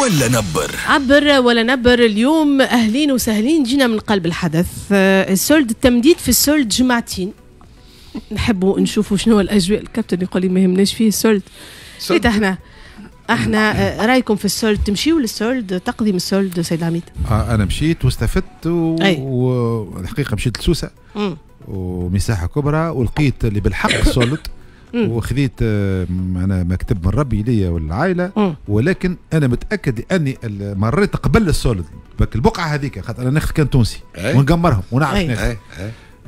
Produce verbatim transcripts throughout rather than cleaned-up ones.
ولا نبر. عبر ولا نبر اليوم اهلين وسهلين، جينا من قلب الحدث. ال solde، التمديد في ال solde جمعتين، نحبوا نشوفوا شنو الاجواء. الكابتن يقول لي ما يهمناش فيه ال solde. إيه احنا احنا رايكم في ال solde؟ تمشيوا لل solde؟ تقديم ال solde سيد العميد؟ آه انا مشيت واستفدت والحقيقة مشيت لسوسه ومساحة كبرى ولقيت اللي بالحق solde، وخذيت انا مكتب من ربي ليا والعائله، ولكن انا متاكد لاني مريت قبل ال solde البقعة هذيك، خاطر انا ناخذ كان تونسي ونقمرهم ونعرف ناخذ،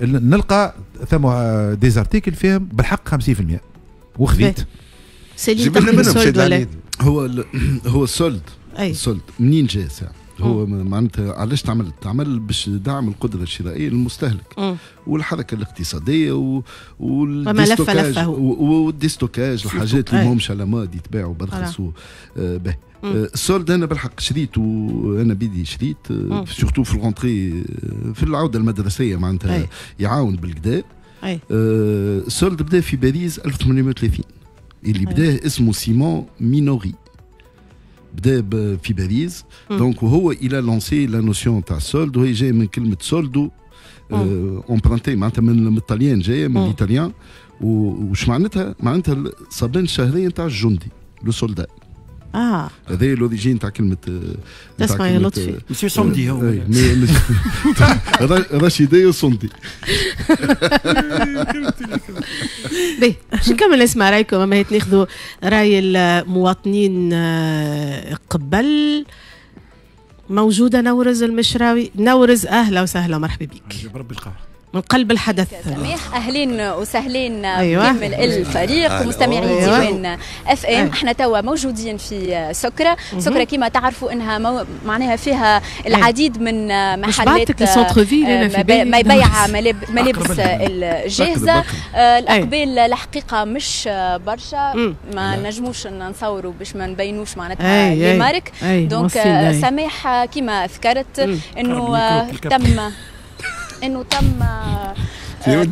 نلقى ثم des articles فيهم بالحق خمسين بالمية وخذيت. سليم تقديم ال solde ولا؟ هو هو ال solde ال solde منين جاء ساعة؟ هو معناتها علاش تعمل؟ تعمل باش دعم القدرة الشرائية للمستهلك والحركة الاقتصادية و وال déstockage وال déstockage، الحاجات اللي ماهمش à la mode يتباعوا برخص به. ال solde انا بالحق شريت، وانا بيدي شريت surtout في ال rentrée، في العودة المدرسية معناتها يعاون بالكدا. ال solde بدا في باريس ألف وثمانمائة وثلاثين، اللي بداه اسمه سيمون مينوري، بدا في باريس. donc وهو il a lancé la notion تاع ال solde، وهي جاية من كلمة soldo emprunté، معناتها من الطليان، جاية من l'italien. وش معناتها؟ معناتها الصابين الشهرية نتاع الجندي، le soldat. اه هذا l'origine تاع كلمة. تسمع يا لطفي مسيو صندي هو رشيدي وصندي. باهي باش نكمل نسمع رايكم، اما ناخذوا راي المواطنين قبل. موجودة نورز المشراوي. نورز اهلا وسهلا ومرحبا بك. بربي القهر من قلب الحدث. سميح اهلين وسهلين. أيوة. بكامل الفريق ومستمعي أيوة. ديوان اف ام. احنا توا موجودين في سكره. سكره كما تعرفوا انها مو... معناها فيها العديد من محلات ما يبيع ملابس الجاهزة. الاقبال الحقيقة مش برشا، ما نجموش نصوروا باش ما نبينوش معناتها les marques. donc سماح كما ذكرت انه تم انه تم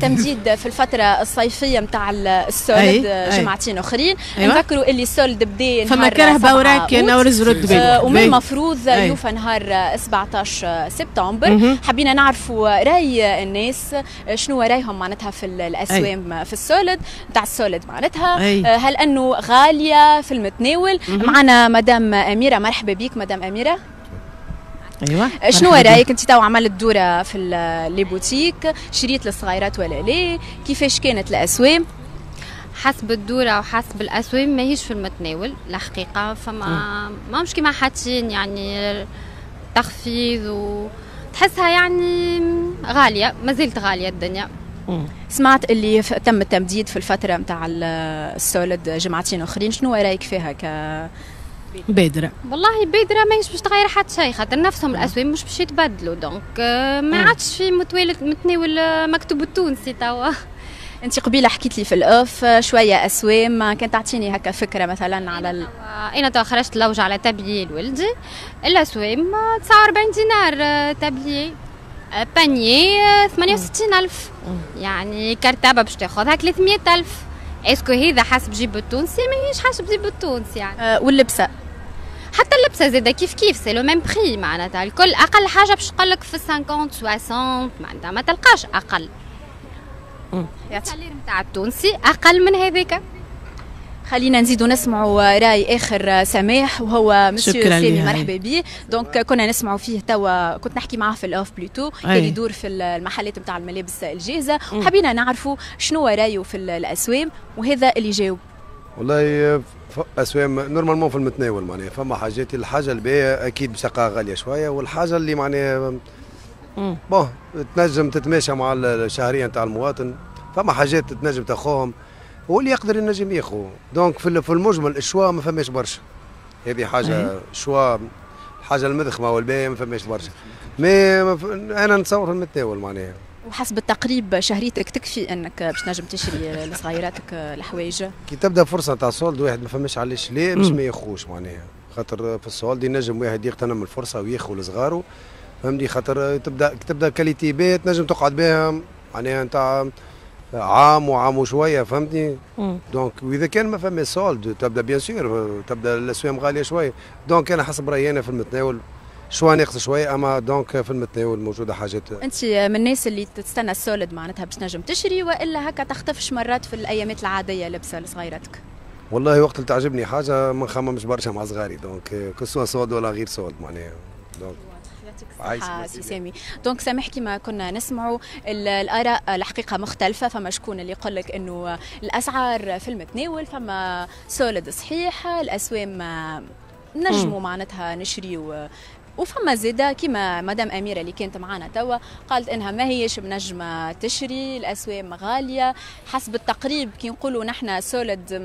تمديد في الفترة الصيفية نتاع ال solde جمعتين اخرين. أيوة. نذكروا اللي ال solde بدا فما كرهبه وراك نورز رد بالك، ومن المفروض يوفى نهار سبعطاش سبتمبر. حبينا نعرفوا راي الناس، شنو رايهم معناتها في الاسوام. أي. في ال solde نتاع ال solde معناتها. أي. هل انه غالية في المتناول؟ معنا مدام اميره، مرحبا بك مدام اميره. ايوه شنو رايك انت؟ تو عملت دوره في les boutiques، شريت للصغيرات ولا لا؟ كيفاش كانت الاسوام؟ حسب الدورة وحسب الاسوام ماهيش في المتناول الحقيقة، فما ما مش كيما حاطين يعني تخفيض وتحسها يعني غالية، ما زالت غالية الدنيا. مم. سمعت اللي تم التمديد في الفترة نتاع ال solde جمعتين اخرين، شنو رايك فيها ك بادرة؟ والله بادرة ماهيش باش تغير حتى شيء، خاطر نفسهم الاسوام مش باش يتبدلوا، donc ما عادش في متناول مكتوب التونسي توا. انت قبيلة حكيت لي في ال off شوية اسوام، كان تعطيني هكا فكرة مثلا على ال... انا توا خرجت لوج على تابليي لولدي، الاسوام تسعة وأربعين دينار tablier، panier ثمانية وستين ألف، يعني كرتابه باش تاخذها ثلاثمية ألف. est-ce que هذا حسب جيب التونسي؟ ماهيش حسب جيب التونسي يعني. أه واللبسه؟ حتى اللبسه زاده كيف كيف، c'est le même prix معناتها الكل. اقل حاجة باش تقول لك في خمسين ستين معناتها ما تلقاش اقل. ال salaire نتاع التونسي اقل من هذاك. خلينا نزيدوا نسمعوا راي اخر سماح، وهو مسيو سامي، مرحبا بيه. donc كنا نسمعوا فيه توا، كنت نحكي معاه في ال off plutôt، كان يدور في المحلات نتاع الملابس الجاهزة، وحبينا نعرفوا شنو رايه في الاسوام، وهذا اللي جاوب. والله اسوام normalement في المتناول، معناها فما حاجات، الحاجة الباهيه اكيد باش تلقاها غالية شوية، والحاجة اللي معناها bon تنجم تتماشى مع الشهرية نتاع المواطن، فما حاجات تنجم تاخوهم واللي يقدر ينجم ياخو. donc في المجمل ال choix ما فماش برشا، هذه حاجة choix، الحاجة المذخمه والباهيه ما فماش برشا، mais انا نتصور في المتناول معناها. وحسب التقريب شهريتك تكفي انك باش تنجم تشري لصغيراتك الحوايج؟ كي تبدا فرصة تاع solde واحد ما فماش علاش ليه باش ما ياخوش معناها، خاطر في ال solde ينجم واحد يغتنم الفرصة وياخو لصغارو، فهمتني؟ خاطر تبدا تبدا qualité باهيه تنجم تقعد بها معناها نتاع عام وعام وشوية، فهمتني؟ donc واذا كان ما فما solde تبدا bien sûr تبدا الاسوام غالية شوية. donc انا حسب رايي انا في المتناول شوية ناقص شوية، اما donc في المتناول موجودة حاجات. انت من الناس اللي تستنى ال solde معناتها باش تنجم تشري، والا هكا تختفش مرات في الايامات العادية لبسه لصغيراتك؟ والله وقت اللي تعجبني حاجة ما نخممش برشا مع صغاري، donc que ce soit solde ولا غير solde معناها. donc يعطيك الصحة سي سامي. donc سامح كما كنا نسمعوا الآراء الحقيقة مختلفة، فما شكون اللي يقول لك انه الأسعار في المتناول، فما solde صحيح الأسوام نجموا معناتها نشريو، وفما زيادة كما مدام أميرة اللي كانت معنا توا قالت إنها ما هيش منجمة تشري، الأسوام غالية حسب التقريب. كي نقولوا نحن solde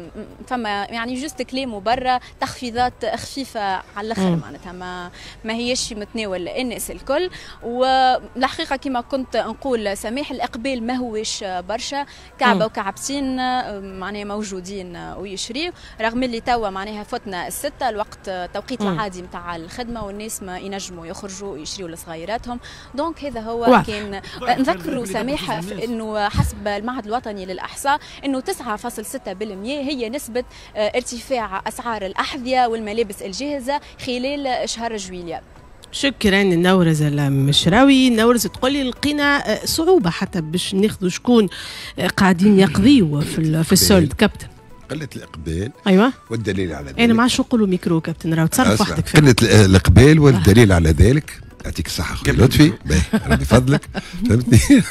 فما يعني juste كلام وبرا تخفيضات خفيفة على الآخر، معناتها ما ما هيش متناول الناس الكل. والحقيقة كما كنت نقول سماح الإقبال ما هوش برشا، كعبة وكعبتين معناها موجودين ويشريوا، رغم اللي توا معناها فتنا الستة الوقت التوقيت العادي نتاع الخدمة والناس ما ينجموا يخرجوا ويشريوا لصغيراتهم. donc هذا هو واضح. كان نذكروا سماح انه حسب المعهد الوطني للاحصاء انه تسعة فاصل ستة بالمئة هي نسبه ارتفاع اسعار الاحذية والملابس الجاهزة خلال شهر جويلية. شكرا نورز المشراوي. نورز تقولي لقينا صعوبة حتى باش ناخذوا شكون قاعدين يقضيوا في في ال solde كابتن. قلة الإقبال. أيوة. والدليل على ذلك أنا ما عادش نقولوا ميكرو كابتن، راهو تصرف وحدك. قلة الإقبال والدليل على ذلك، يعطيك الصحة خويا لطفي، باهي ربي فضلك، فهمتني؟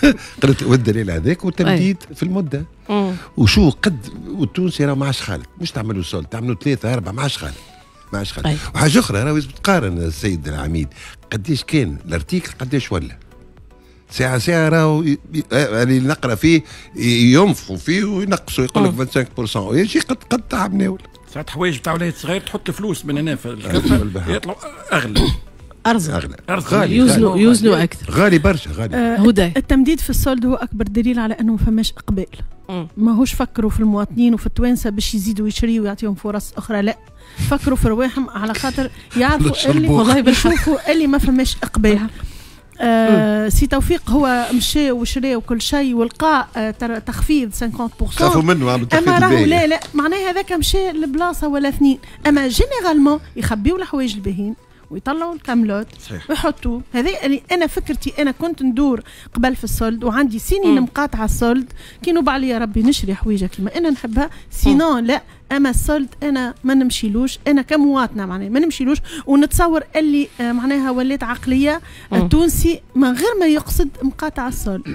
قلة والدليل على ذلك والتمديد في المدة. مم. وشو قد والتونسي راه ما عادش خالد، مش تعملوا solde، تعملوا ثلاثة أربعة ما عادش خالد، ما عادش خالد. وحاجة أخرى راهو لازم تقارن السيد العميد قداش كان ال article قداش ولا. ساعة ساعة راهو اللي نقرا فيه ينفخوا فيه وينقصوا يقول لك خمسة وعشرين بالمئة يجي قد قد تعب ناول. ساعات حوايج بتاع ولاد صغير تحط الفلوس من هنا في الكفة يطلعوا اغلى. ارزق اغلى غالي، يوزنوا يوزنوا اكثر، غالي برشا غالي. آه هدى التمديد في ال solde هو اكبر دليل على انه ما فماش اقبال. ماهوش فكروا في المواطنين وفي التوانسة باش يزيدوا يشريوا ويعطيهم فرص اخرى، لا فكروا في رواحهم على خاطر يعرفوا اللي والله يشوفوا اللي ما فماش اقبال. آه سي توفيق هو مشى وشرى وكل شيء ولقى آه تخفيض خمسين بالمئة، خافوا منه عملوا تخفيض. اما راهو لا لا معناها هذاك مشى لبلاصه ولا اثنين، اما généralement يخبيوا الحوايج الباهين ويطلعوا الكاملوت ويحطوا. هذا اللي انا فكرتي، انا كنت ندور قبل في ال solde وعندي سنين مقاطعه ال solde، كي نوب عليا ربي نشري حويجه كيما انا نحبها، sinon لا. اما ال solde انا ما نمشيلوش، انا كمواطنه معناها ما نمشيلوش، ونتصور اللي معناها ولات عقلية التونسي من غير ما يقصد مقاطعه ال solde.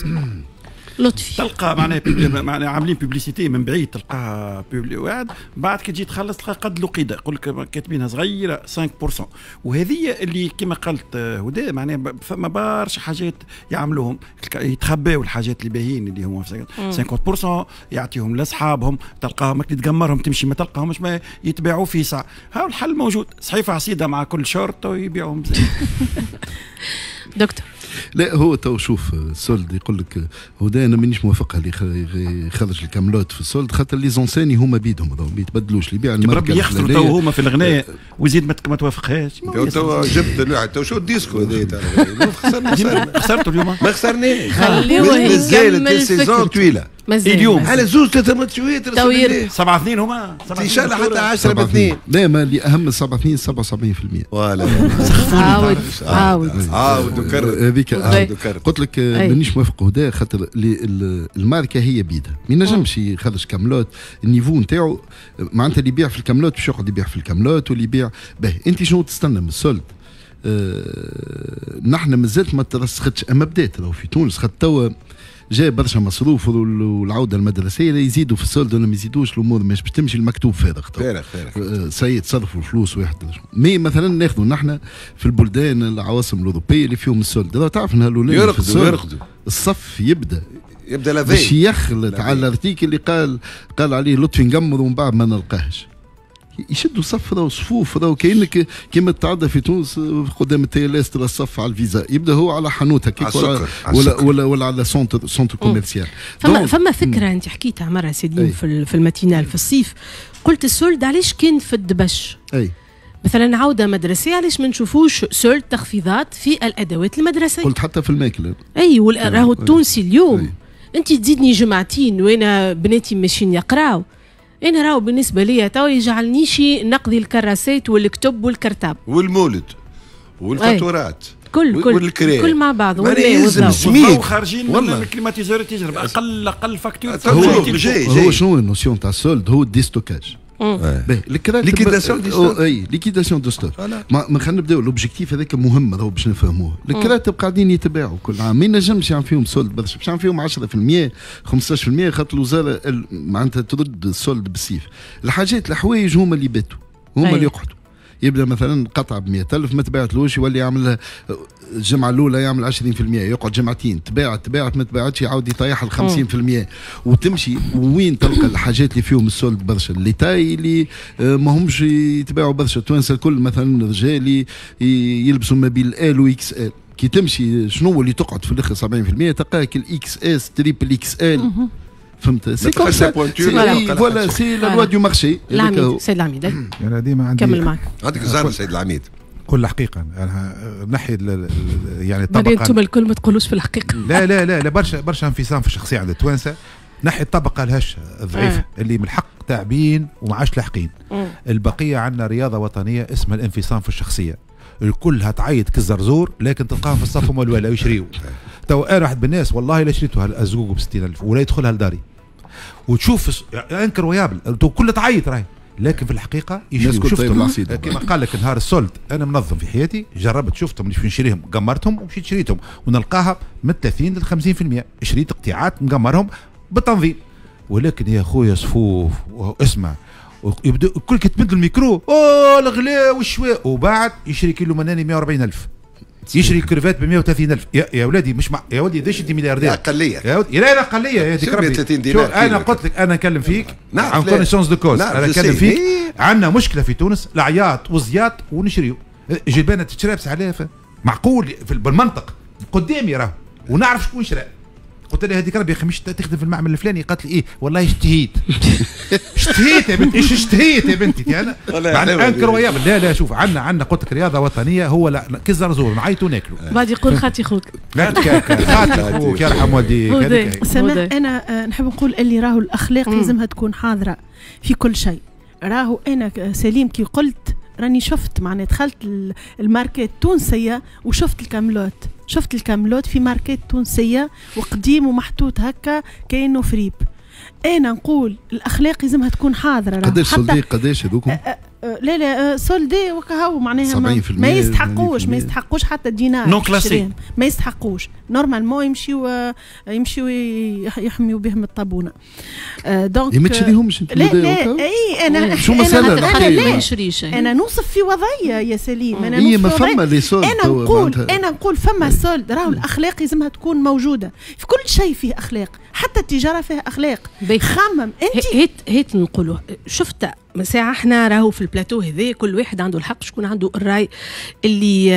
لطفي تلقى معناها معناها عاملين publicité من بعيد، تلقاها واحد بعد كي تجي تخلص تلقى قد لقيده يقول لك كاتبينها صغيرة خمسة بالمئة. وهذه اللي كما قالت هدى معناها فما برشا حاجات يعملوهم يتخباو الحاجات اللي باهيين اللي هما خمسين بالمئة يعطيهم لاصحابهم، تلقاهم اللي تقمرهم تمشي ما تلقاهمش ما يتباعوا في ساعة. ها الحل موجود، صحيفة عصيده مع كل شورت ويبيعوهم. دكتور لا هو تو شوف ال solde يقول لك هدى انا مانيش موافقها اللي يخرج الكاملوت في ال solde، خاطر les enseignes هما بيدهم ما يتبدلوش، اللي يبيع الماركة يخسروا تو هما في الغناء ويزيد ما توافقهاش. تو جبت الواحد تو شو الديسكو هذا خسرنا خسرتوا اليوم ما خسرناش، خليوه مازالت ال saison طويلة اليوم على زوز ثلاثة ماتشات سبعة اثنين هما ان شاء الله حتى عشرة باثنين. لا ما اللي اهم سبعة اثنين سبعة وسبعين بالمئة voilà. عاود عاود عاود وكرر هذيك. قلت لك مانيش موافق هدى خاطر الماركة هي بيدها ما ينجمش يخرج كاملوت ال niveau نتاعو، معناتها اللي يبيع في الكاملوت باش يقعد يبيع في الكاملوت واللي يبيع باهي. انت شنو تستنى من ال solde؟ آه نحن مازالت ما ترسختش، اما بدات راهو في تونس خاطر توا جاء برشا مصروف والعودة المدرسية يزيدوا في ال solde ولا ما يزيدوش الامور مش باش تمشي، المكتوب فارغ فارغ فارغ سيد صرفوا الفلوس واحد. mais مثلا ناخذوا نحن في البلدان العواصم الاوروبية اللي فيهم ال solde، تعرف ان الاولاد يرقدوا يرقدوا الصف يبدا يبدا لافي باش يخلط على ال article اللي قال قال عليه لطفي نقمر ومن بعد ما نلقاهش. يشدوا صف راهو صفوف راهو كانك كيما تعدى في تونس قدام ال TLS ترى الصف على الفيزا، يبدا هو على حانوت هكاك ولا ولا, ولا ولا على centre centre commercial. فما فما فكرة انت حكيتها مرة سيدي في في ال matinale في الصيف، قلت ال solde علاش كان في الدبش؟ اي مثلا عوده مدرسيه علاش ما نشوفوش solde تخفيضات في الادوات المدرسية؟ قلت حتى في الماكلة. اي راهو التونسي اليوم أي. انت تزيدني جمعتين وانا بناتي ماشيين يقراو، انا راهو بالنسبة ليا تو يجعلنيش نقضي الكراسات والكتب والكرتاب والمولد والفاتورات كل كل كل مع بعض. والضوء خارجين من ال climatiseur تجرب اقل اقل facture. هو, هو شنو ال notion تاع ال solde؟ هو ال déstockage. باهي liquidation de stock. اي liquidation de stock. ما خلينا نبداو l'objectif هذاك مهم راهو باش نفهموه. الكراتب قاعدين يتباعوا كل عام، ما ينجمش يعمل فيهم solde برشا، باش يعمل فيهم عشرة بالمية خمسطاش بالمية خاطر الوزارة معناتها ترد ال solde بالسيف. الحاجات الحوايج هما اللي باتوا، هما اللي يقعدوا. يبدا مثلا قطعه ب مية ألف ما تباعتلوش، يولي يعمل الجمعة الاولى يعمل عشرين بالمية، يقعد جمعتين تباعت تباعت ما تباعتش يعاود يطيح ال خمسين بالمية وتمشي. وين تلقى الحاجات اللي فيهم ال solde برشا؟ les tailles اللي ما همش يتباعوا برشا. التوانسة الكل مثلا رجالي يلبسوا ما بين L و XL، كي تمشي شنو اللي تقعد في الاخر سبعين بالمية تلقاك ال XS triple XL. فهمت؟ c'est comme ça voilà c'est la loi du marché. العميد سيد العميد انا ديما عندي كمل معك. عندك الزهر سيد العميد. كل حقيقة انا نحي يعني الطبقة انتم الكل ما تقولوش في الحقيقة. لا لا لا لا برشا برشا انفصام في الشخصية عند التوانسة. نحي الطبقة الهشه الضعيفة آه. اللي من الحق تعبين وما عادش لاحقين. البقية عندنا رياضة وطنية اسمها الانفصام في الشخصية، الكل هتعيط كالزرزور لكن تلقاهم في الصف هما الولا يشريوا. تو انا واحد من الناس والله لا شريته الزقوق ب ستين ألف ولا يدخلها لداري وتشوف incroyable كل تعيط راهي، لكن في الحقيقة يشريوا. شفتهم كما قال لك نهار ال solde انا منظم في حياتي، جربت شفتهم اللي نشريهم قمرتهم ومشيت شريتهم ونلقاها من ثلاثين ل خمسين بالمية. شريت قطيعات مقمرهم بالتنظيم، ولكن يا خويا صفوف واسمع يبدا الكل كتمد الميكرو اوه الغلاء والشواء، وبعد يشري كيلو مناني مية وأربعين ألف، يشري كرفات ب مية وثلاثين ألف. يا, يا ولادي مش مع... يا ولدي قداش انت ملياردير؟ اقلية يا ولدي لا لا اقلية يا ديك ربي. شو انا قلت لك انا نكلم فيك en connaissance de cause، انا نكلم فيك. عندنا مشكلة في تونس العياط والزياط ونشريو جبانه تشرى ب سبعة آلاف معقول بالمنطق قدامي راه ونعرف شكون شرا. قلت لها هذيك ربي يا اخي مش تخدم في المعمل الفلاني؟ قالت لي ايه والله اشتهيت. اشتهيت يا بنتي، ايش اشتهيت يا بنتي انا معناها incroyable. لا لا شوف عندنا عندنا قلت لك رياضة وطنية هو لا كالزرزور نعيطوا وناكلوا. بعد يقول خاتي خوك. خاتي خوك يرحم والديك. سماح انا نحب نقول اللي راهو الاخلاق لازمها تكون حاضره في كل شيء. راهو انا سليم كي قلت راني شفت معناها دخلت الماركات التونسية وشفت الكاملوت، شفت الكاملوت في ماركات تونسية وقديم ومحطوط هكا كأنه فريب. انا نقول الاخلاق لازمها تكون حاضره. قداش soldé قداش هذوكم؟ لا لا soldé وكهو معناها ما, ما يستحقوش ما يستحقوش حتى دينار non classé ما يستحقوش. normalement يمشيو يمشيو يحميو بهم الطابونه. donc ما تشريهمش انت؟ لا لا اي انا شو مثلا انا لا نشريش، انا نوصف في وضعية يا سليم. انا نوصف ما فما les soldes. انا نقول انا نقول فما solde راهو الاخلاق لازمها تكون موجودة في كل شيء، فيه اخلاق حتى التجارة فيها اخلاق. خمم انت هيت هيت نقولوا شفت ساعة احنا راهو في البلاتو هذا كل واحد عنده الحق شكون عنده الراي اللي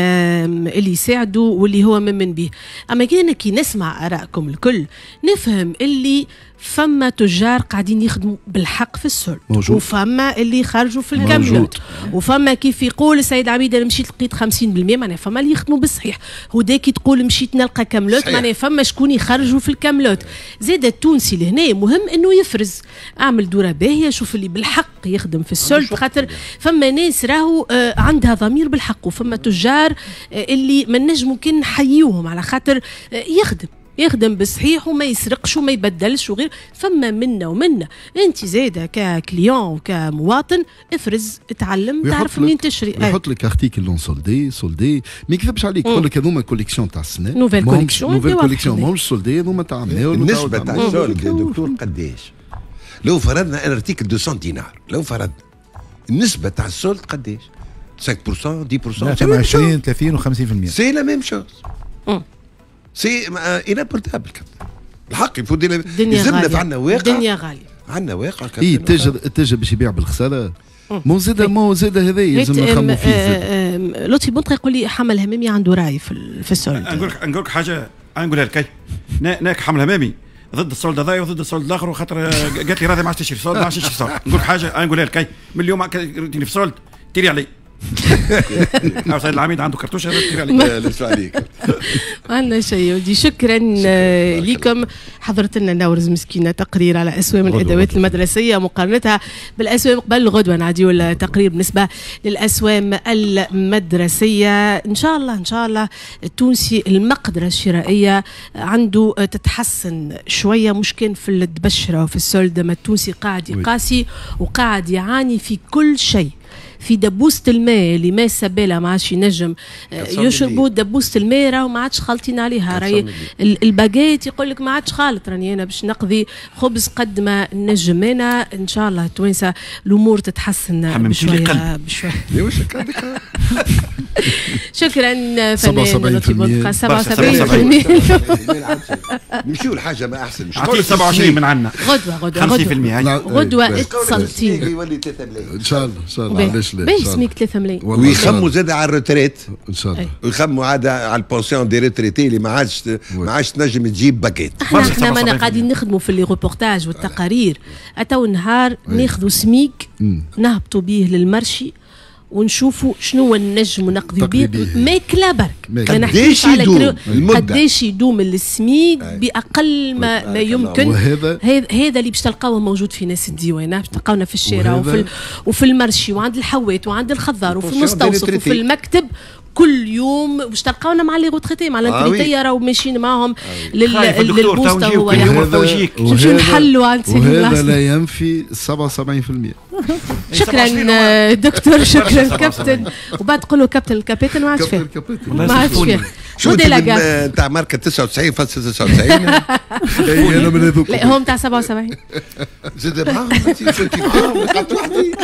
اللي يساعده واللي هو ممن به. اما كي كي نسمع ارائكم الكل نفهم اللي فما تجار قاعدين يخدموا بالحق في ال solde، وفما اللي خرجوا في الكاملوت، وفما كيف يقول السيد عبيد انا مشيت لقيت خمسين بالمية معناها فما اللي يخدموا بالصحيح. هداك كي تقول مشيت نلقى كاملوت معناها فما شكون يخرجوا في الكاملوت. زاد التونسي لهنا مهم انه يفرز، اعمل دوره باهيه شوف اللي بالحق يخدم في ال solde، خاطر فما ناس راهو عندها ضمير بالحق، وفما تجار اللي ما نجموا كان نحيوهم على خاطر يخدم يخدم بالصحيح وما يسرقش وما يبدلش وغير. فما منا ومنا انت زاده ك client وكمواطن افرز اتعلم تعرف منين تشري. يحط لك article non soldé soldé ما يكذبش عليك، يقول لك هذوما collection تاع السنة nouvelle collection nouvelle collection ماهمش soldé هذوما تاع النسبة تاع ال solde يا دكتور قداش؟ لو فرضنا un article مئتين دينار، لو فرضنا النسبة تاع ال solde قداش؟ خمسة بالمية عشرة بالمية عشرين ثلاثين وخمسين بالمية. c'est la même chose، c'est inapportable. الحق يفوت يلزمنا في عندنا واقع، الدنيا غالية، عندنا واقع. اي التاجر التاجر باش يبيع بالخساره مو زاد مو زاد هذا يلزم نخمو فيه. لطفي بنطق يقول لي حمل همامي عنده راي في في ال solde. نقول لك نقول لك حاجة نقولها لك، ناك حمل همامي ضد ال solde هذايا وضد ال solde الاخر، وخاطر قالت لي راضي ما عادش تشري solde ما عادش تشري solde. نقول لك حاجة نقولها لك، من اليوم في solde تيري علي. سيد العميد عنده كرتوشه عليك. عليك ما عندنا شيء ودي. شكرا لكم. حضرت لنا نورز مسكينه تقرير على اسوام الادوات المدرسية مقارنتها بالاسوام قبل. غدوه نعديو التقرير بالنسبة للاسوام المدرسية. ان شاء الله ان شاء الله التونسي المقدرة الشرائية عنده تتحسن شوية، مش كان في الدبشره وفي ال solde، ما التونسي قاعد يقاسي وقاعد يعاني في كل شيء. في دبوسة الماء اللي ما سبالة ما عادش ينجم يشربوا دبوسة الماء، راهو ما عادش خالطين عليها. راهي الباجيت يقول لك ما عادش خالط، راني انا باش نقضي خبز قد ما نجم انا. ان شاء الله التوانسة الامور تتحسن بشوية بشوية. شكرا فنان لطفي بودقة. سبعة وسبعين بالمئة. نمشيو لحاجة ما احسن. اعطيه سبعة وعشرين من عندنا. غدوه غدوه خمسين بالمئة غدوه اتصلتين يولي ثلاثة ملايين ان شاء الله. ان شاء الله علاش لا. باهي سميك ثلاثة ملايين. ويخموا زاد على ال retraite ان شاء الله، ويخموا عاد على ال pension des retraités اللي ما عادش ما عادش تنجم تجيب باكيت. احنا احنا مانا قاعدين نخدموا في les reportages والتقارير. اتو نهار ناخذوا سميك نهبطوا به لل marché ونشوفوا شنو نجموا نقضيو به ماكله برك. ما نحكيش على قداش يدوم السميك باقل ما, ما يمكن. وهذا هذا اللي باش تلقاوه موجود في ناس الديوانه، باش تلقاونا في الشارع وفي وفي ال marché وعند الحوات وعند الخضار وفي المستوصف وفي المكتب كل يوم. باش تلقاونا مع les retraités مع ال retraités راهو ماشيين معاهم للبوسطه. هو نمشيو نحلوا عند سيدي. وهذا لا ينفي سبعة وسبعين بالمئة. شكرا دكتور، شكرا كابتن. وبعد تقول له كابتن الكابتن ما عادش فيه، ما عادش فيه. شو نتاع ماركة تسعة وتسعين فاصلة تسعة وتسعين؟ انا من هذوك. لا هو نتاع سبعة وسبعين. زاد معاهم انت كنت معاهم قعدت وحدي.